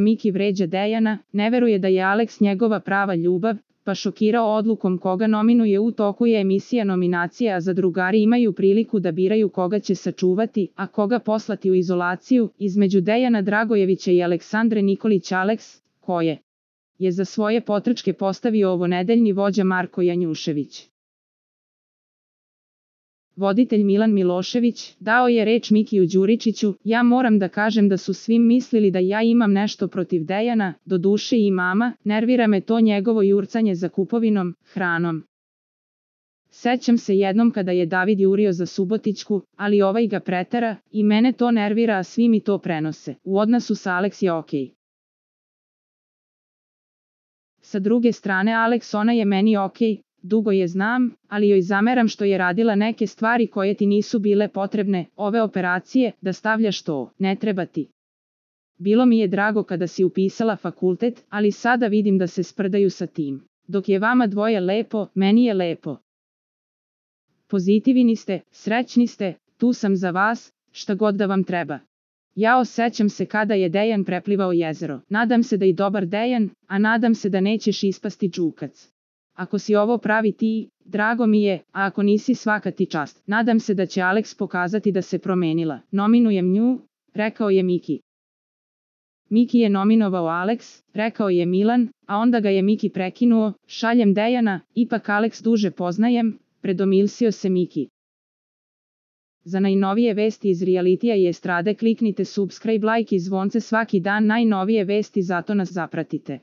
Miki vređa Dejana, ne veruje da je Alex njegova prava ljubav, pa šokirao odlukom koga nominuje. U toku je emisija nominacija, a zadrugari imaju priliku da biraju koga će sačuvati, a koga poslati u izolaciju, između Dejana Dragojevića i Aleksandre Nikolić. Alex, koje je za svoje potrčke postavio ovonedeljni vođa Marko Janjušević. Voditelj Milan Milošević dao je reč Mikiju Đuričiću: ja moram da kažem da su svi mislili da ja imam nešto protiv Dejana, doduše i mama, nervira me to njegovo jurcanje za kupovinom, hranom. Sećam se jednom kada je David jurio za Subotićku, ali ovaj ga pretera, i mene to nervira, a svi mi to prenose. U odnosu sa Alex je okej. Sa druge strane Alex, ona je meni okej, dugo je znam, ali joj zameram što je radila neke stvari koje ti nisu bile potrebne, ove operacije, da stavljaš to, ne treba ti. Bilo mi je drago kada si upisala fakultet, ali sada vidim da se sprdaju sa tim. Dok je vama dvoje lepo, meni je lepo. Pozitivni ste, srećni ste, tu sam za vas, šta god da vam treba. Ja osjećam se kada je Dejan preplivao jezero. Nadam se da i dobar Dejan, a nadam se da nećeš ispasti džukac. Ako si ovo pravi ti, drago mi je, a ako nisi, svaka ti čast. Nadam se da će Alex pokazati da se promenila. Nominujem nju, rekao je Miki. Miki je nominovao Alex, rekao je Milan, a onda ga je Miki prekinuo: šaljem Dejana, ipak Alex duže poznajem, predomislio se Miki. Za najnovije vesti iz realitija i estrade kliknite subscribe, like i zvonce svaki dan, najnovije vesti, zato nas zapratite.